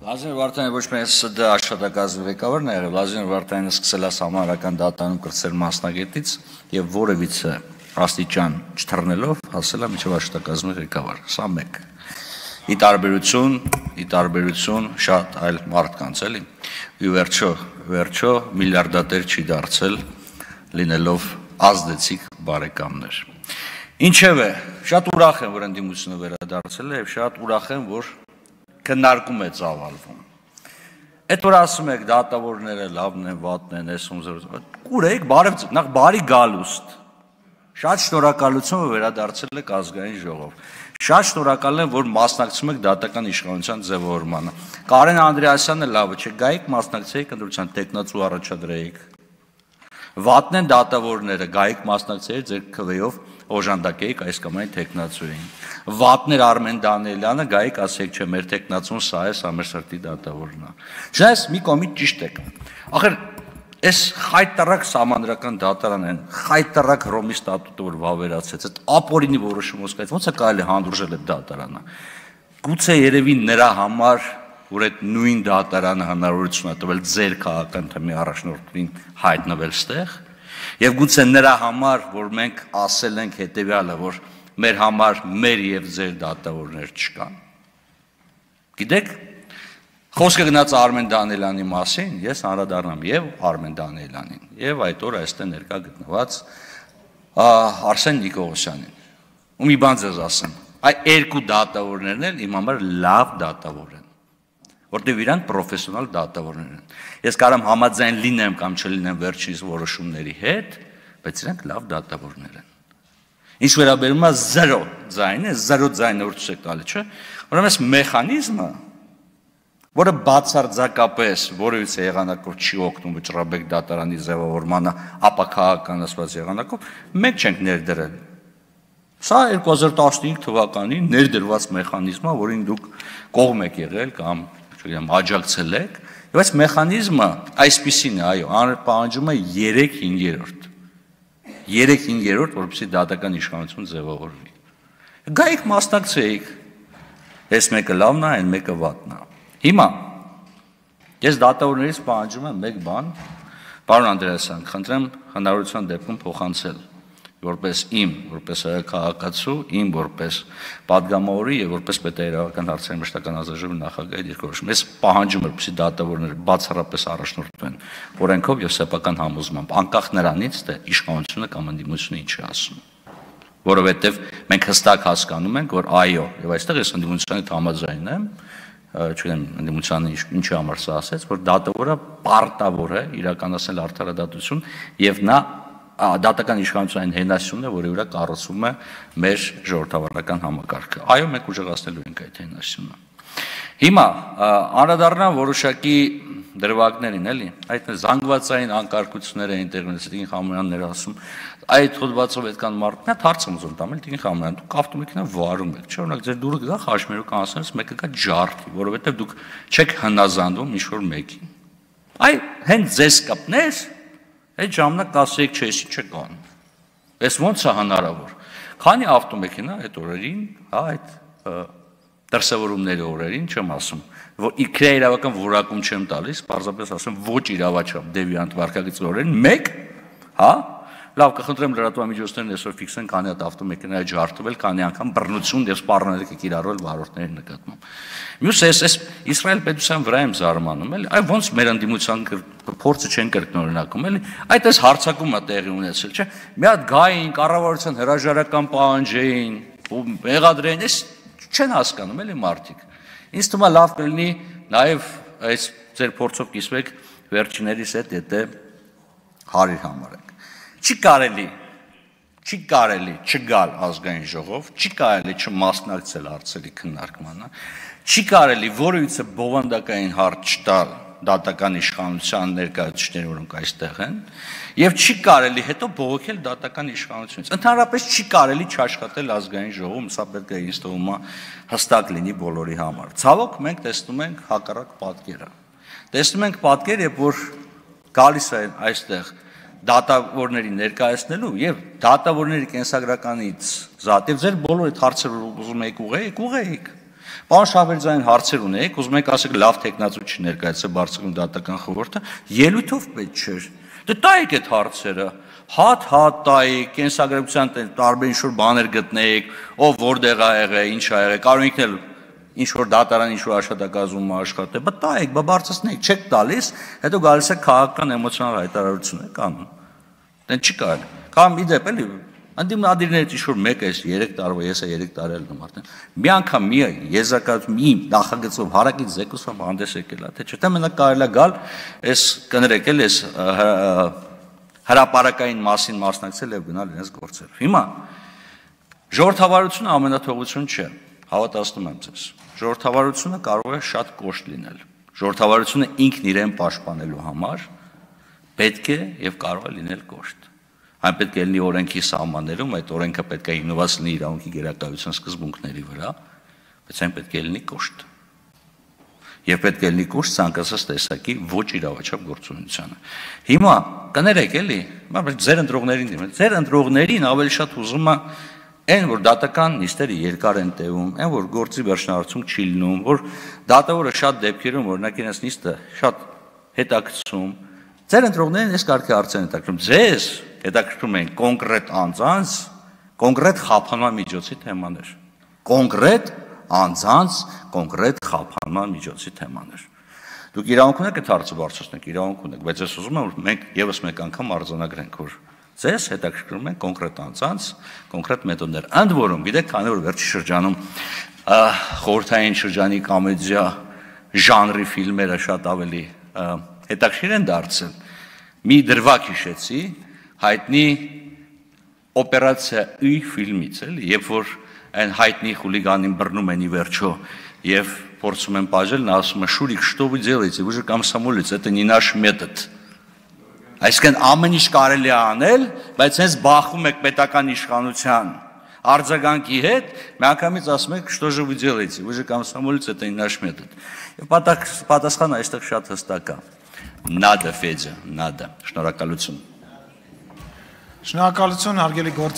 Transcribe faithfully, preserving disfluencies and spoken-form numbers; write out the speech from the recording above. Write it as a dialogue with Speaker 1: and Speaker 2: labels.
Speaker 1: Լազարը Վարդանյանը ոչ միայն ՍԴ աշխատակազմի ղեկավարն է եղել, Լազարը Վարդանյանը սկսել է համահարական դատարանում կրտսեր մասնագետից եւ որևիցե աստիճան չթռնելով հասել է մինչեւ աշխատակազմի ղեկավար։ Սա մեկ։ Ի տարբերություն, ի տարբերություն շատ այլ մարդկանց, էլի։ Ու վերջո, վերջո միլիարդատեր չի դարձել, լինելով ազդեցիկ բարեկամներ։ Ինչևէ, շատ ուրախ եմ, որ ընդդիմությունը վերադարձել է եւ շատ ուրախ եմ, որ քննարկում է ծավալվում։ Այդ որ ասում եք դատավորները լավն են, վատն են, էսում զրուցում։ Կուրեք, բարև, նախ բարի գալուստ։ Շատ շնորհակալություն, որ վերադարձել եք ազգային ժողով։ Շատ շնորհակալ եմ, որ մասնակցում եք դատական իշխանության ձևավորմանը։ Կարեն Անդրեասյանը լավը չէ, գայիք մասնակցեիք ընտրության տեխնացու առաջադրեիք։ Վատն են դատավորները, գայիք մասնակցեիք ձեր քվեով օժանդակեիք այս կամ այն տեխնացուին։ Վատներ Արմեն Դանիելյանը, գայիք ասեք չէ, մեր տեխնացուն սա է, սա մեր սրտի դատավորն է։ Չնայած մի կողմից ճիշտ եք։ Ախր այս խայտարակ սահմանադրական դատարան են, խայտարակ Հռոմի ստատուտը որ վավերացեց, այդ ապօրինի որոշումով սկսած ո՞նց է կարելի հանդուրժել այդ դատարանը։ Գուցե երևի նրա համար, որ այդ նույն դատարանը հնարավորություն է տվել ձեր քաղաքական թեմի առաջնորդին հայտնվել ստեղ, եւ գուցե նրա համար, որ մենք ասել ենք հետեւյալը, որ մեր համար մեր եւ ձեր դատավորներ չկան։ Գիտեք, խոսքը գնաց Արմեն Դանիելյանի մասին, ես անդրադառնամ եւ Արմեն Դանիելյանին, եւ այդ օրը այստեղ ներկա գտնված Արսեն Նիկողոսյանին։ Ու մի բան ձեզ ասեմ, այդ երկու դատավորներն էլ իմ համար լավ դատավոր են, որտեղ իրանք պրոֆեսիոնալ դատավորներ են։ Ես կարամ համաձայն լինեմ կամ չլինեմ վերջինիս որոշումների հետ, բայց իրանք լավ դատավորներ են։ Ինչ վերաբերում է զրո ձայնը, զրո ձայնը որ ցույց տալի, չէ՞։ Ուրեմն այս մեխանիզմը, որը բացարձակապես որևիցե եղանակով չի օգնում Վճռաբեկ դատարանի ձևավորմանը ապաքաղաքականացված եղանակով, մենք չենք ներդրել։ Սա երկու հազար տասնհինգ թվականին ներդրված մեխանիզմ է, որին դուք կողմ եք եղել կամ չգիտեմ աջակցել եք, եւ այս մեխանիզմը այսպիսին է, այո, պահանջում է երեք հինգերորդ։ երեք հինգերորդ, որպեսզի դատական իշխանություն ձևավորվի։ Գայիք մասնակցեիք։ Այս մեկը լավն է, այն մեկը վատն է։ Հիմա ես դատավորներից պահանջում եմ մեկ բան, պարոն Անդրեասյան, խնդրեմ հնարավորության դեպքում փոխանցել, որպես իմ, որպես քաղաքացու, իմ որպես падգամավորի եւ որպես պետահրավերական հարցերի մշտական ազգաժողովի նախագահի դիրքորոշում։ Ես պահանջում եմ, որպեսզի դատավորները բացառապես առաջնորդվեն օրենքով եւ սեփական համոզմամբ, անկախ նրանից, թե իշխանությունը կամ ընդդիմությունը ինչ է ասում։ Որովհետեւ մենք հստակ հասկանում ենք, որ այո, եւ այստեղ ես ընդդիմության հետ համաձայն եմ, չգիտեմ, ընդդիմությանը ինչի համար սա ասեց, որ դատավորը պարտավոր է իրականացնել արդարադատություն եւ նա դատական իշխանության հենասյունն է, որի վրա կառուցվում է մեր ժողովրդավարական համակարգը։ Այո, մենք ուժեղացնելու ենք այդ հենասյունը։ Հիմա անդրադառնամ որոշակի դրվագներին, էլի, այդ զանգվածային անկարգությունները են ինտերնետից, Տիկին Խամոյանն էր ասում, այդ հոդվածով այդքան մարդ, նա հարց եմ ուզում տամ, Տիկին Խամոյան, դուք ավտոմեքենա վարում եք, չէ՞, օրինակ ձեր դուրը գա խաշմերուկ անցնելուց մեկը կա ջարդի, որովհետև դուք չեք հնազանդվում ինչ-որ մեկին։ Այ հենց ձեզ կապներ, այդ ժամանակ կասեիք, չէ, չի չկան։ Էս ո՞նց է հնարավոր։ Քանի ավտոմեքենա այդ օրերին, հա, այդ դրսևորումների օրերին չեմ ասում, որ իրավական որակում չեմ տալիս, պարզապես ասում ոչ իրավաչափ դեվիանտ վարքագծի օրերին, մեկ, հա, լավ, կխնդրեմ լրատվամիջոցներն այսօր ֆիքսեն, քանի հատ ավտոմեքենա է ջարդվել, քանի անգամ բռնություն եւ սպառնալիք է կիրառվել վարորդների նկատմամբ։ Մյուս էս էս Իսրայել պետության վրա եմ զարմանում, էլի, այ ոնց մեր ընդդիմության փորձը չեն կրկնօրինակում, էլի, այդ էս հարցակումը տեղի ունեցել, չէ՞։ Մի հատ գային, կառավարության հրաժարական պահանջեին, ու մեղադրեն, էս չեն հասկանում, էլի մարդիկ։ Ինձ թվում է լավ կլինի նաեւ այս ձեր փորձով կիսվեք վերջիներիս հետ, եթե հարիր համարեք։ Չի կարելի, չի կարելի չգալ ազգային ժողով, չի կարելի չմասնակցել հարցերի քննարկմանը, չի կարելի որևիցե բովանդակային հարց չտալ դատական իշխանության ներկայացուցիչներին, որոնք այստեղ են, եւ չի կարելի հետո բողոքել դատական իշխանությունից։ Ընդհանրապես չի կարելի չաշխատել ազգային ժողովում, սա պետք է ինձ թվում է հստակ լինի բոլորի համար։ Ցավոք մենք տեսնում ենք հակառակ պատկերը։ Տեսնում ենք պատկեր, երբ որ գալիս են այստեղ դատավորների ներկայացնելու եւ դատավորների կենսագրականից զատ եւ ձեր բոլոր այդ հարցերը ուզում եք ուղղեիք, ուղղեիք։ Պարոն Շահվերդյանին հարցեր ունեիք, ուզում եք ասեք լավ տեխնացու ներկայացրել բարձրագույն դատական խորհուրդը, ելույթով պետք չէր։ Դե տայեք այդ հարցերը, հատ-հատ տայեք, կենսագրության տարբեր ինչ-որ բաներ գտնեիք, ով որտեղ ա եղել, ինչ ա եղել, կարող եք էլ ինչ-որ դատարան, ինչ-որ աշխատակազմում աշխատել, բայց տայեք, բարձրացնեք, չեք տալիս, հետո գալիս է քաղաքական էմոցիոնալ հայտարարություն եք անում։ Դեն չի կարելի։ Կամ իդեպ էլի անդիմնադիրներից ինչ-որ մեկը էս երեք տարվա, ես է երեք տարի եմ արդեն։ Մի անգամ մի եզրակացում, մի նախագծով հարակից զեկուցում հանդես եկել է, թե չէ, թե մենակ կարելի է գալ, էս կներեք էլ էս հրապարակային մասին մասնակցել եւ գնալ իրենց գործերով։ Հիմա ժողովրդավարությունը ամենաթողություն չէ, հավատացնում եմ ձեզ։ Ժողովրդավարությունը կարող է շատ կոշտ լինել։ Ժողովրդավարությունը ինքն իրեն պաշտպանելու համար պետք է եւ կարող է լինել կոշտ։ Այն պետք է լինի օրենքի սահմաններում, այդ օրենքը պետք է հիմնված լինի իրավունքի գերակայության սկզբունքների վրա, բայց այն պետք է լինի կոշտ։ Եվ պետք է լինի կոշտ ցանկացած տեսակի ոչ իրավաչափ գործունեությանը։ Հիմա կներեք էլի, բայց ձեր ընտրողներին դիմել, ձեր ընտրողներին ավելի շատ ուզում է այն, որ դատական նիստերը երկար են տևում, այն, որ գործի վերջնահարցում չի լինում, որ դատավորը շատ դեպքերում օրինակ իրենց նիստը շատ հետաքրքրում, ձեր ընտրողներին այս կարգի հարցեր են հետաքրքրում, ձեզ հետաքրքրում են կոնկրետ անձանց, կոնկրետ խափանման միջոցի թեմաներ, կոնկրետ անձանց, կոնկրետ խափանման միջոցի թեմաներ։ Դուք իրավունք ունեք այդ հարցը բարձրացնեք, իրավունք ունեք, բայց ես ուզում եմ, որ մենք եւս մեկ անգամ արձանագրենք, որ ձեզ հետաքրքրում են կոնկրետ անձանց, կոնկրետ մեթոդներ։ Ընդ որում, գիտեք, քանի որ վերջի շրջանում խորհրդային շրջանի կոմեդիա ժանրի ֆիլմերը շատ ավելի հետաքրքիր են դարձել։ Մի դրվագ հիշեցի հայտնի օպերացիա Ü ֆիլմից, էլի, երբ որ այն հայտնի խուլիգանին բռնում են ի վերջո եւ փորձում են բաժել, նա ասում է «Շուրիկ, что вы делаете? Вы же комсомолец, это не наш метод»։ Այսինքն ամեն ինչ կարելի է անել, բայց հենց բախվում եք պետական իշխանության արձագանքի հետ, միանգամից ասում եք «Что же вы делаете? Вы же комсомолец, это не наш метод»։ Եվ պատասխանը այստեղ շատ հստակ է։ Nada, Ֆեդյա, nada։ Շնորհակալություն։
Speaker 2: Շնորհակալություն, հարգելի գործ